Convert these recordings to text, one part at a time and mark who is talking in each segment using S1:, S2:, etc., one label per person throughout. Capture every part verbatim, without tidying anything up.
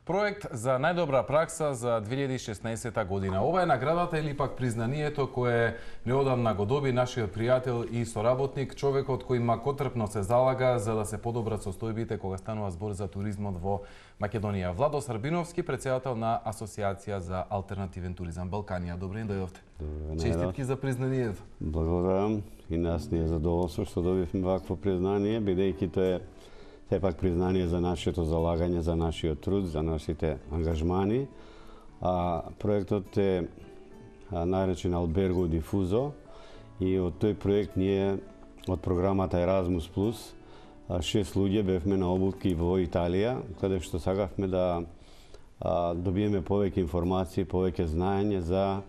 S1: Проект за најдобра пракса за две илјади и шеснаесета година. Ова е наградата или пак признанието кое неодамна го доби нашиот пријател и соработник, човекот кој макотрпно се залага за да се подобрат состојбите кога станува збор за туризмот во Македонија. Владо Србиновски, претседател на Асоциација за алтернативен туризам Балканија. Добре дојдовте. Честитки за признанието.
S2: Благодарам, и нас ни е задоволство што добивме вакво признание, бидејќи тоа е сепак признание за нашето залагање, за нашиот труд, за нашите ангажмани. А проектот е наречен Albergo Diffuso и од тој проект ние од програмата Erasmus Plus шест луѓе бевме на обуки во Италија, каде што сакавме да а, добиеме повеќе информации, повеќе знаење за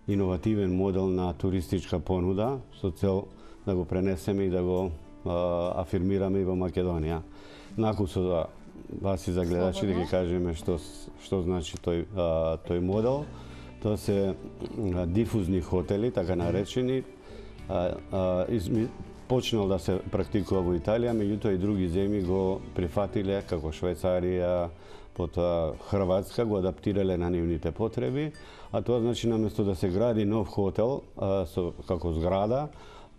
S2: иновативен модел на туристичка понуда, со цел да го пренесеме и да го а, афирмираме и во Македонија. Након со да вас и за гледачи да ги кажеме што што значи тој а, тој модел. Тоа се а, дифузни хотели, така наречени. А, а, изми, почнал да се практикува во Италија, меѓутоа и други земји го прифатиле, како Швајцарија, потоа Хрватска, го адаптирале на нивните потреби, а тоа значи наместо да се гради нов хотел а, со, како зграда,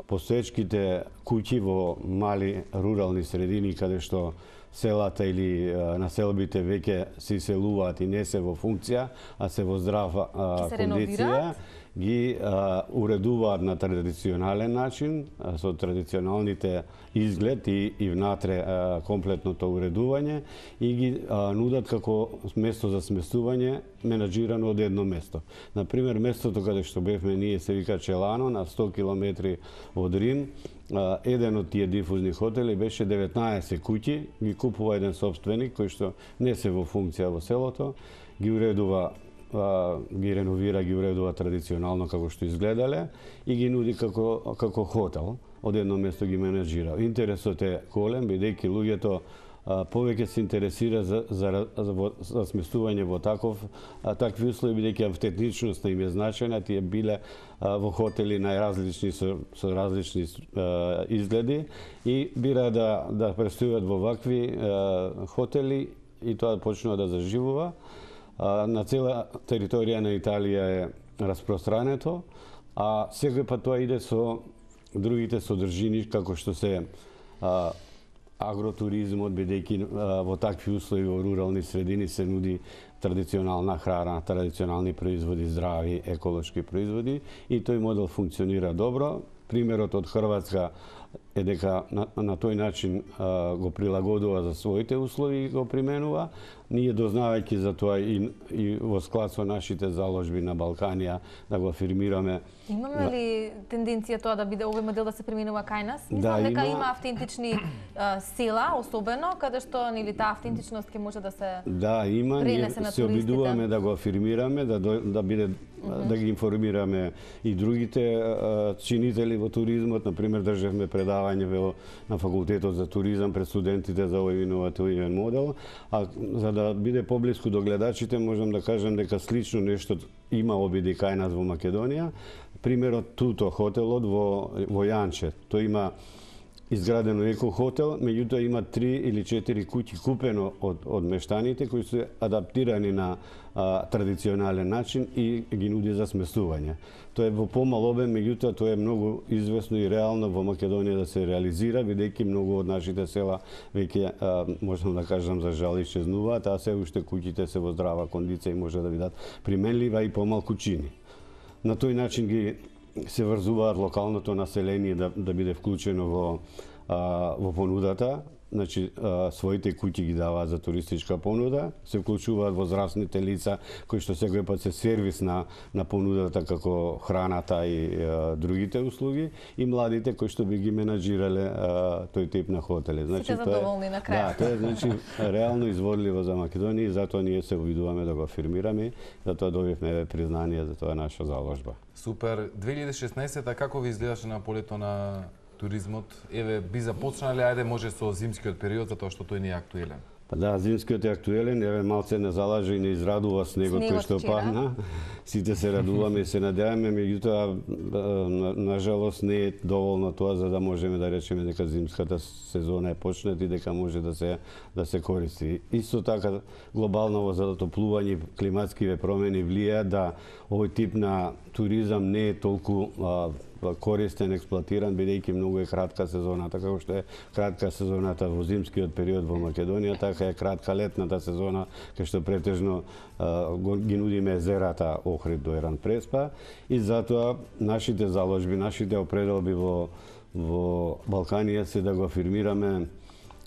S2: постоечките куќи во мали рурални средини каде што селата или а, населбите веќе се иселуваат и не се во функција, а се во здрава а, кондиција, ги а, уредуваат на традиционален начин, а, со традиционалните изглед и, и внатре а, комплетното уредување и ги а, нудат како место за сместување менаџирано од едно место. Например, местото каде што бевме ние се вика Челано, на сто километри од Рим. А, еден од тие дифузни хотели беше деветнаесет куќи, ги купува еден собственик кој што не се во функција во селото, ги уредува, а, ги реновира, ги уредува традиционално како што изгледале и ги нуди како како хотел, од едно место ги менаџира. Интересот е голем, бидејќи луѓето а, повеќе се интересира за, за, за, за сместување во таков, а, такви услови, бидејќи автентичноста им е значајна, тие биле а, во хотели најразлични со, со различни а, изгледи и бира да да престојуват во вакви а, хотели и тоа почнува да заживува. А, на цела територија на Италија е распространето, а секој пат тоа иде со другите содржини како што се а, агротуризмот, бидејќи во такви услови во рурални средини се нуди традиционална храна, традиционални производи, здрави, еколошки производи и тој модел функционира добро. Примерот од Хрватска е дека на, на тој начин а, го прилагодува за своите услови и го применува. Ние дознавајќи за тоа и, и во склад со нашите заложби на Балканија да го афирмираме.
S3: Имаме ли тенденција тоа да биде овој модел да се применува кај нас? Мислам
S2: да,
S3: дека
S2: има,
S3: има автентични а, села, особено, каде што нели таа автентичност ќе може да се
S2: Да, има, ние се обидуваме да го афирмираме, да да биде mm -hmm. да ги информираме и другите а, чинители во туризмот. Например, држевме предавање во на факултетот за туризам пред студентите за овој иновативен модел, а за да биде поблиску до гледачите можам да кажам дека слично нешто има обиди кај нас во Македонија. Примерот Туто хотелот во во Јанче. Тој има изградено еко хотел, меѓутоа има три или четири куќи купено од од мештаните кои се адаптирани на а, традиционален начин и ги нуди за сместување. Тоа е во помал обем, меѓутоа тоа е многу известно и реално во Македонија да се реализира, бидејќи многу од нашите села веќе можам да кажам за жал исчезнуваат, а се уште куќите се во здрава кондиција и може да бидат применлива и помалку чини. На тој начин ги се врзуваат локалното население да, да биде вклучено во, а, во понудата, значи а, своите куќи ги даваат за туристичка понуда, се вклучуваат возрастните лица кои што секој пат се сервис на, на понудата како храната и а, другите услуги и младите кои што би ги менаџирале а, тој тип на хотели.
S3: Значи, сите задоволни на крај.
S2: Да, тоа е значи реално изводливо за Македонија и затоа ние се обидуваме да го афирмираме, затоа добивме признание за тоа наша заложба.
S1: Супер. две илјади и шеснаесета како ви изгледаше на полето на туризмот? Еве, би започнале, ајде може со зимскиот период, затоа што тој не е актуелен.
S2: Да, зимскиот е актуелен, еве малце не залажа и не израдува снегот кој што падна. Сите се радуваме и се надеваме, меѓутоа на, на жалост не е доволно тоа за да можеме да речеме дека зимската сезона е почната и дека може да се да се користи. Исто така глобално затоплување, климатскиве промени влијаат да овој тип на туризам не е толку а, користен, експлоатиран, бидејќи многу е кратка сезоната, како што е кратка сезоната во зимскиот период во Македонија, така е кратка летната сезона, кај што претежно а, ги нудиме езерата Охрид до Еран Преспа, и затоа нашите заложби, нашите определби во во Балканија се да го афирмираме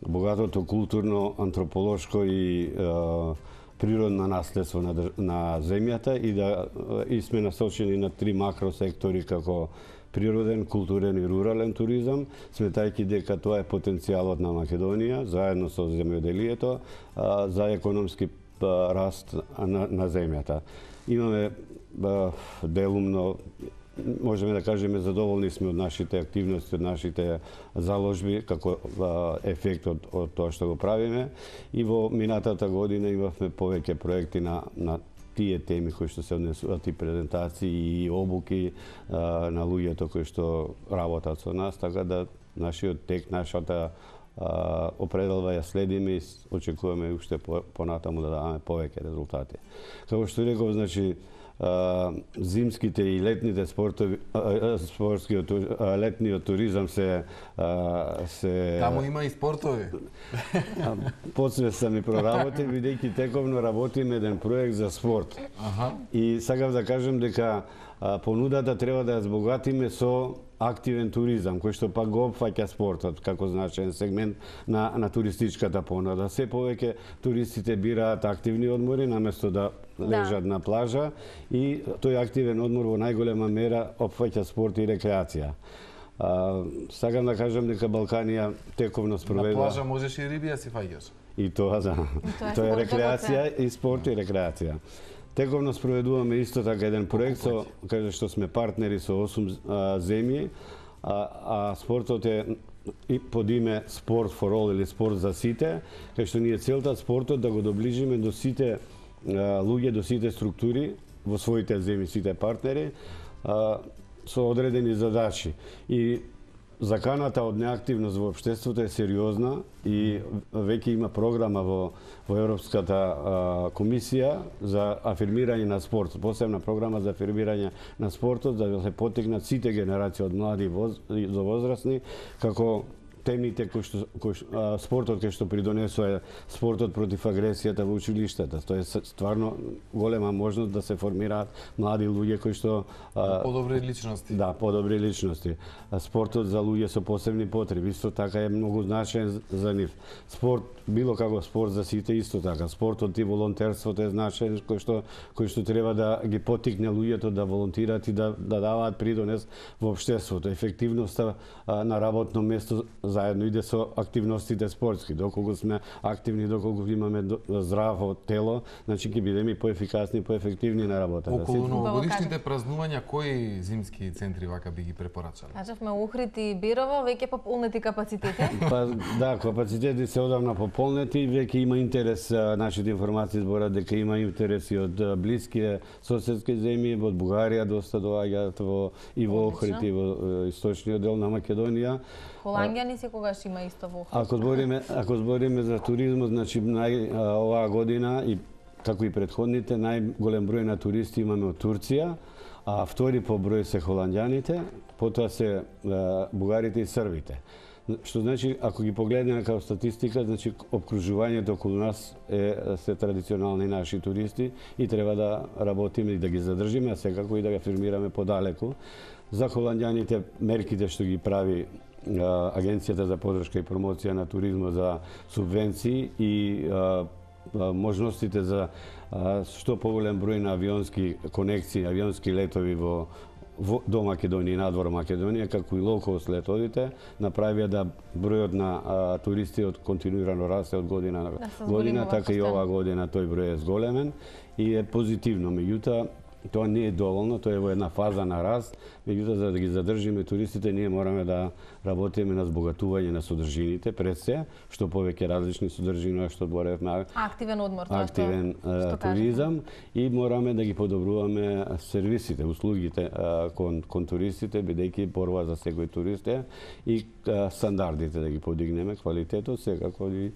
S2: богатото културно, антрополошко и а, природно наследство на, на земјата и да и сме насочени на три макросектори како природен, културен и рурален туризам, сметајќи дека тоа е потенцијалот на Македонија, заедно со земјоделието, а, за економски а, раст на, на земјата. Имаме а, делумно, можеме да кажеме, задоволни сме од нашите активности, од нашите заложби, како а, ефект од, од тоа што го правиме. И во минатата година имавме повеќе проекти на, на тие теми кои што се однесуваат и презентации и обуки а, на луѓето кои што работат со нас, така да нашиот тек, нашата а, определба ја следиме и очекуваме уште по, понатаму да даваме повеќе резултати. Како што реков, значи, а, зимските и летните спортови, а, спортскиот, а, летниот туризам се а, се
S1: Таму има и спортови.
S2: Подсвеста ми проработи, бидејќи тековно работиме еден проект за спорт.
S1: Аха.
S2: И сакав да кажем дека а, понудата треба да ја збогатиме со активен туризам, кој што пак го опфаќа спортот како значаен сегмент на, на туристичката понуда. Се повеќе туристите бираат активни одмори наместо да лежат да. на плажа, и тој активен одмор во најголема мера опфаќа спорт и рекреација. А, сакам да кажам дека Балканија тековно спроведа...
S1: На плажа можеш и риби да си фаќаш.
S2: И тоа, да.
S3: тоа,
S2: тоа е рекреација и спорт и рекреација. Тековно спроведуваме исто така еден проект со каде што сме партнери со осум а, земји, а, а спортот е и под име Sport for All или спорт за сите, кај што ние целта спортот да го доближиме до сите а, луѓе, до сите структури во своите земји, сите партнери, а, со одредени задачи. И заканата од неактивност во општеството е сериозна и веќе има програма во, во Европската а, комисија за афирмирање на спорт, посебна програма за афирмирање на спортот, за да се поттикнат сите генерации од млади воз, до возрастни, како темите кои што, кои, а, спортот кој што придонесува спортот против агресијата во училиштата. Тоа е стварно голема можност да се формираат млади луѓе кои што
S1: а, подобри личности.
S2: Да, подобри личности. А спортот за луѓе со посебни потреби исто така е многу значаен за нив. Спорт било како спорт за сите исто така. Спортот и волонтерството е значаен кој што кој што треба да ги поттикне луѓето да волонтираат и да да даваат придонес во општеството. Ефективноста а, на работно место заедно иде со активностите спортски. Доколку сме активни, доколку имаме здраво тело, значи ќе бидеме поефикасни, поефективни на работата.
S1: Околу новогодишните празнувања, кои зимски центри вака би ги препорачале?
S3: Кажавме Охрид и Бирово, веќе пополнети капацитети?
S2: Па да, капацитети се одавна пополнети, веќе има интерес, нашите информации зборат дека има интерес и од блиски соседски земји, од Бугарија доста доаѓаат во и во Охрид и во источниот дел на Македонија.
S3: Холандјани секогаш има исто во Охрид.
S2: Ако збориме, ако збориме за туризмот, значи нај, оваа година и како и претходните, најголем број на туристи имаме од Турција, а втори по број се холандјаните, потоа се бугарите и србите. Што значи, ако ги погледнеме како статистика, значи обкружувањето околу нас е се традиционални наши туристи и треба да работиме и да ги задржиме, а секако и да ги афирмираме подалеку. За холандјаните мерките што ги прави Агенцијата за поддршка и промоција на туризмот за субвенции и а, а, можностите за а, што поголем број на авионски конекции, авионски летови во, во до Македонија и надвор Македонија, како и лоукост летовите, направија да бројот на а, туристи од континуирано расте од година на
S3: да,
S2: година, така и оваа година тој број е зголемен и е позитивно. Меѓутоа, тоа не е доволно, тоа е во една фаза на раст, меѓутоа за да ги задржиме туристите ние мораме да работиме на збогатување на содржините пред се, што повеќе различни содржини, што боревме
S3: активен одмор, тоа
S2: активен
S3: што, што
S2: туризам и мораме да ги подобруваме сервисите, услугите кон, кон туристите, бидејќи борба за секој турист е и стандардите да ги подигнеме, квалитетот, секако и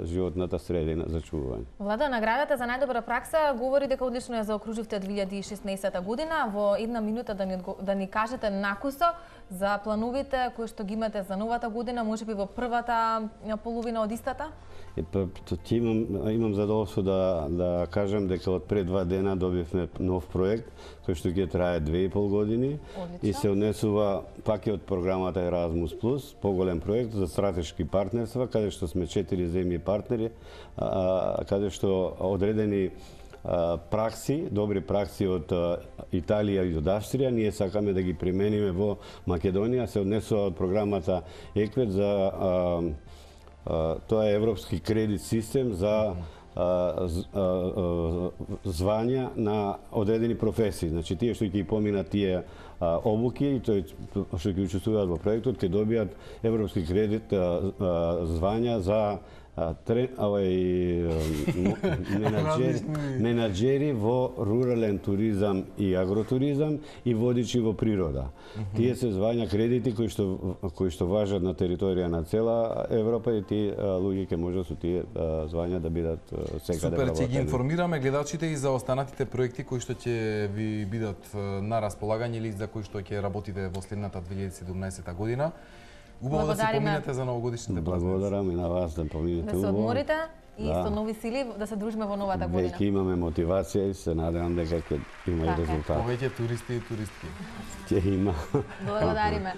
S2: животната средина за чувување.
S3: Влада, наградата за најдобра пракса говори дека одлично ја заокруживте две илјади и шеснаесета година. Во една минута да ни, да ни кажете накусо за плановите кои што ги имате за новата година, можеби во првата половина од истата?
S2: Е, па, ти имам, имам задоволство да, да кажам дека од пред два дена добивме нов проект кој што ќе трае две и пол години.
S3: Одлично.
S2: И се однесува паке од програмата Erasmus Plus, поголем проект за стратешки партнерства, каде што сме четири земји партнери, а, каде што одредени а, пракси, добри пракси од а, Италија и од Австрија, ние сакаме да ги примениме во Македонија, се однесува од програмата ЕКВЕТ за а, а, тоа е европски кредит систем за звања на одредени професии. Значи, тие што ќе поминат тие а, обуки и тој што ќе учествуваат во проектот, ќе добијат европски кредит а, а, звања за менаџери, менаџери во рурален туризам и агротуризам и водичи во природа. Mm -hmm. Тие се звања кредити кои што кои што важат на територија на цела Европа и тие луѓе ќе можат со тие звања да бидат секаде
S1: вработени. Супер, ќе ги информираме гледачите и за останатите проекти кои што ќе ви бидат на располагање или за кои што ќе работите во следната две илјади и седумнаесета година. Убаво да се поминете за новогодишните празници.
S2: Благодарам и на вас да поминете убаво.
S3: Да се одморите и
S2: да.
S3: со нови сили да се дружиме во новата година.
S2: Веќе имаме мотивација и се надевам дека ќе има и резултат.
S1: Повеќе туристи и туристки.
S2: Ќе има.
S3: Благодариме.